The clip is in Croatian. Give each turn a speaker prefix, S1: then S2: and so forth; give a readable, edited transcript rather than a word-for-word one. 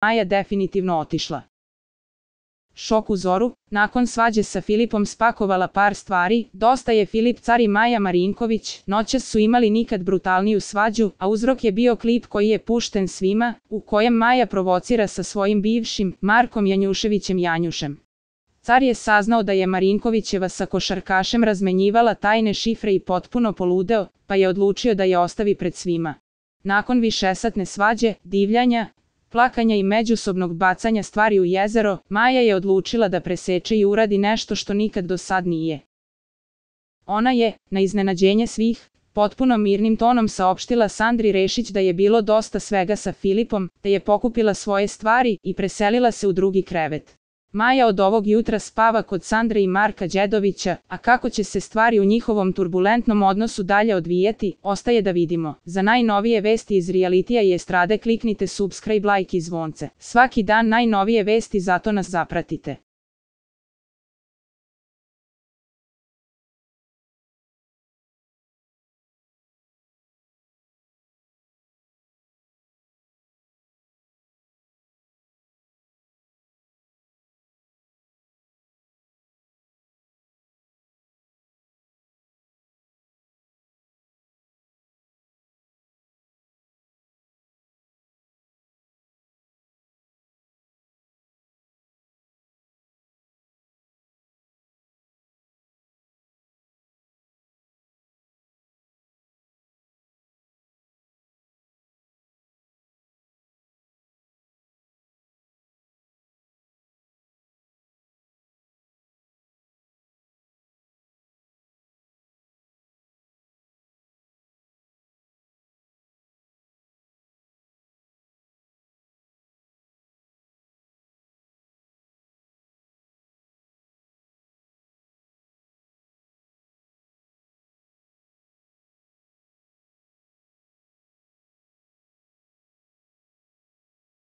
S1: Maja definitivno otišla. Šok u zoru, nakon svađe sa Filipom spakovala par stvari, dosta je Filip car i Maja Marinković, noćas su imali nikad brutalniju svađu, a uzrok je bio klip koji je pušten svima, u kojem Maja provocira sa svojim bivšim, Markom Janjuševićem Janjušem. Car je saznao da je Marinkovićeva sa košarkašem razmenjivala tajne šifre i potpuno poludeo, pa je odlučio da je ostavi pred svima. Nakon višesatne svađe, divljanja, plakanja i međusobnog bacanja stvari u jezero, Maja je odlučila da preseče i uradi nešto što nikad do sad nije. Ona je, na iznenađenje svih, potpuno mirnim tonom saopštila Sandri Rešić da je bilo dosta svega sa Filipom, da je pokupila svoje stvari i preselila se u drugi krevet. Maja od ovog jutra spava kod Sandre i Marka Đedovića, a kako će se stvari u njihovom turbulentnom odnosu dalje odvijati, ostaje da vidimo. Za najnovije vesti iz realitija i estrade kliknite subscribe, like i zvonce. Svaki dan najnovije vesti, zato nas zapratite.